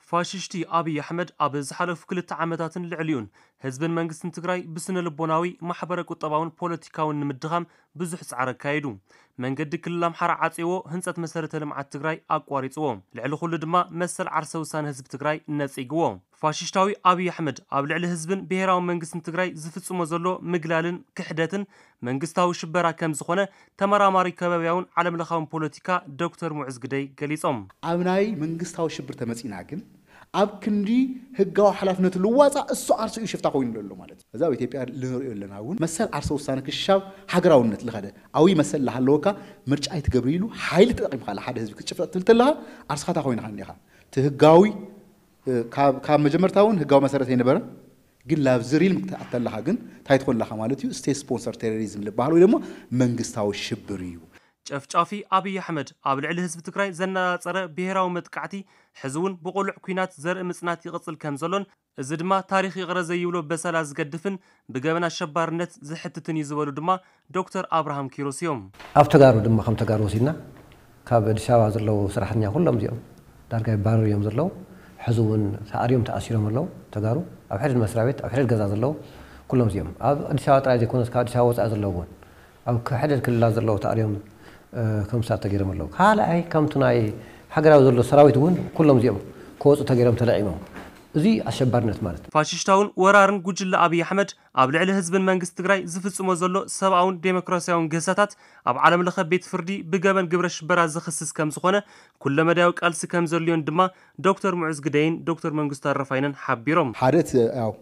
ፋሽስቲ ኣብይ ኣሕመድ ኣብ ዝሓለፉ ክልተ ዓመታትን ልዕሊኡን ህዝብን መንግስትን ትግራይ ብስነ ልቦናዊ፣ ማሕበረ ቁጠባውን ፖለቲካውን ንምድኻም ብዙሕ ጻዕሪ ኣካይዱ። መንገዲ ክልል ኣምሓራ ዓጽዎ፣ ህንጸት መሰረተ ልምዓት ትግራይ ኣቋሪጽዎ። ልዕሊ ኩሉ ድማ መሰል ዓርሰ ውሳነ ህዝቢ ትግራይ ነጺግዎ። ፋሽስታዊ ኣብይ ኣሕመድ ኣብ ልዕሊ ህዝብን ብሔራዊ መንግስትን ትግራይ ዝፍጽሞ ዘሎ ምግላልን ክሕደትን መንግስታዊ ሽበራ ከም ዝኾነ ተመራማሪ ከባቢያውን ዓለም ለኻውን ፖለቲካ ዶክተር ሙዕዝ ግደይ ገሊጾም። ኣብ ናይ መንግስታዊ ሽብር ተመጺና ግን ኣብ ክንዲ ህጋዊ ሓላፍነቱ ልዋፃ እሱ ዓርሱ እዩ ሽፍታ ኮይኑ ዘሎ ማለት እዩ። እዚ ኣብ ኢትዮጵያ ልንሪኦ ኣለና እውን መሰል ዓርሰ ውሳነ ክሻብ ሃገራውነት ልኸደ ኣዊ መሰል ላሃለወካ ምርጫ ኣይትገብር ኢሉ ሓይሊ ተጠቂምካ ሓደ ህዝቢ ክትጭፍለቅ ትብል ተለካ ዓርስኻ ታ ኮይንካ እኒኻ እቲ ህጋዊ ካብ መጀመርታ እውን ህጋዊ መሰረት ኣይነበረን። ግን ላብዚ ሪልም ክትኣተለካ ግን እንታይ ትኾን ኣለካ ማለት እዩ? ስቴት ስፖንሰር ቴሮሪዝም ዝበሃል ወይ ድማ መንግስታዊ ሽብር እዩ። ጨፍጫፊ ኣብይ ኣሕመድ ኣብ ልዕሊ ህዝቢ ትግራይ ዘነጻጸረ ብሄራዊ መጥቃዕቲ ሕዚ እውን ብቆልዕ ኲናት ዘርኢ ምጽናት ይቕጽል ከም ዘሎን እዚ ድማ ታሪኽ ይቕረ ዘይብሎ በሰላ ዝገድፍን ብገበን ኣሸባርነት ዝሕትትን እዩ ዝበሉ ድማ ዶክተር ኣብርሃም ኪሮስ እዮም። ኣብ ተጋሩ ድማ ከም ተጋሩ ወሲድና ካብ ኣዲስ ኣበባ ዘለዉ ሰራሕተኛ ኩሎም እዚኦም ዳርጋ ይባረሩ እዮም ዘለዉ። ሕዚ እውን ተኣርዮም ተኣሲሮም ኣለዉ ተጋሩ ኣብ ሕድድ መስሪያ ቤት ኣብ ሕድድ ገዛ ዘለዉ ኩሎም እዚኦም ኣብ ኣዲስ ኣበባ ጥራይ ዘይኮነስ ካብ ኣዲስ ኣበባ ወፃኢ ዘለዉ እውን ኣብ ሕድድ ክልላት ዘለዉ ተኣርዮም ከምሳ ተገይሮም ኣለዉ። ካልኣይ ከምቲ ናይ ሃገራዊ ዘሎ ሰራዊት እውን ኩሎም እዚኦም ክወፁ ተገይሮም ተለዒሞም። እዚ ኣሸባርነት ማለት ፋሽስታውን ወራርን ጉጅለ ኣብይ ኣሕመድ ኣብ ልዕሊ ህዝብን መንግስቲ ትግራይ ዝፍጽሞ ዘሎ ሰብኣውን ዴሞክራሲያውን ግህሰታት ኣብ ዓለም ለኸ ቤት ፍርዲ ብገበን ግብረ ሽበራ ዝኽስስ ከም ዝኾነ ኩለመዳያዊ ቃልሲ ከም ዘድልዮን ድማ ዶክተር ሙዑዝ ግደይን ዶክተር መንግስቱ ኣረፋይነን ሓቢሮም። ሓደ እቲ ያው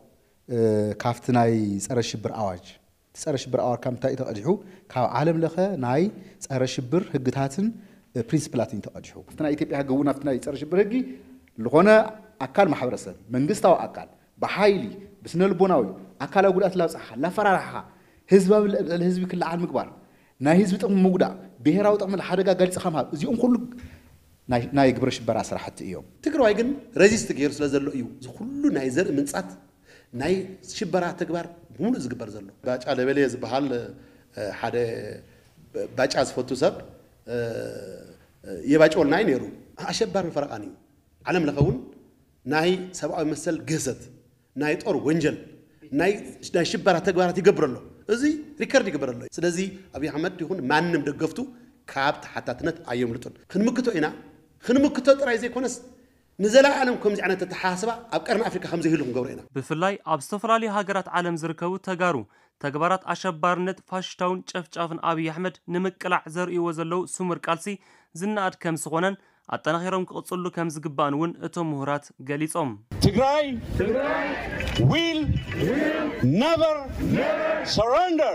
ካብቲ ናይ ጸረ ሽብር ኣዋጅ እቲ ጸረ ሽብር ኣዋጅ ካብ ምንታይ እዩ ተቐዲሑ? ካብ ዓለም ለኸ ናይ ጸረ ሽብር ህግታትን ፕሪንስፕላትን እዩ ተቐዲሑ። ኣብቲ ናይ ኢትዮጵያ ህጊ እውን ኣብቲ ናይ ጸረ ሽብር ህጊ ዝኾነ ኣካል ማሕበረሰብ መንግስታዊ ኣካል ብሓይሊ ብስነ ልቦናዊ ኣካላዊ ጉድኣት ላብፅሓኻ ላፈራርሓኻ ህዝባዊ ልዕሊ ህዝቢ ክለዓል ምግባር ናይ ህዝቢ ጥቕሚ ምጉዳእ ብሄራዊ ጥቕሚ ሓደጋ ጋሊፅኻ ምሃብ እዚኦም ኩሉ ናይ ግብረ ሽበራ ስራሕቲ እዮም። ትግራዋይ ግን ረዚስት ገይሩ ስለ ዘሎ እዩ እዚ ኩሉ ናይ ዘርኢ ምንፃት ናይ ሽበራ ተግባር ብምሉእ ዝግበር ዘሎ። ባጫ ደበሌ ዝበሃል ሓደ ባጫ ዝፈቱ ሰብ የባጨወልና እዩ ነይሩ። ኣሸባርን ፈረቓን እዩ። ዓለም ለኸ እውን ናይ ሰብኣዊ መሰል ግህሰት ናይ ጦር ወንጀል ናይ ሽበራ ተግባራት ይገብር ኣሎ። እዚ ሪከርድ ይግበር ኣሎ። ስለዚ ኣብይ ኣሕመድ ይኹን ማንም ደገፍቱ ካብ ተሓታትነት ኣየምልጡን። ክንምክቶ ኢና። ክንምክቶ ጥራይ ዘይኮነስ ንዘለኣለም ከምዚ ዓይነት ኣተሓሳስባ ኣብ ቀርኒ ኣፍሪካ ከምዘይህሉ ክንገብሮ ኢና። ብፍላይ ኣብ ዝተፈላለዩ ሃገራት ዓለም ዝርከቡ ተጋሩ ተግባራት ኣሸባርነት ፋሽስታውን ጨፍጫፍን ኣብይ ኣሕመድ ንምቅላዕ ዘርእይዎ ዘለዉ ስሙር ቃልሲ ዝነኣድ ከም ዝኾነን ኣጠናኺሮም ክቕፅሉ ከም ዝግባእን እውን እቶም ምሁራት ገሊፆም። ትግራይ will never surrender።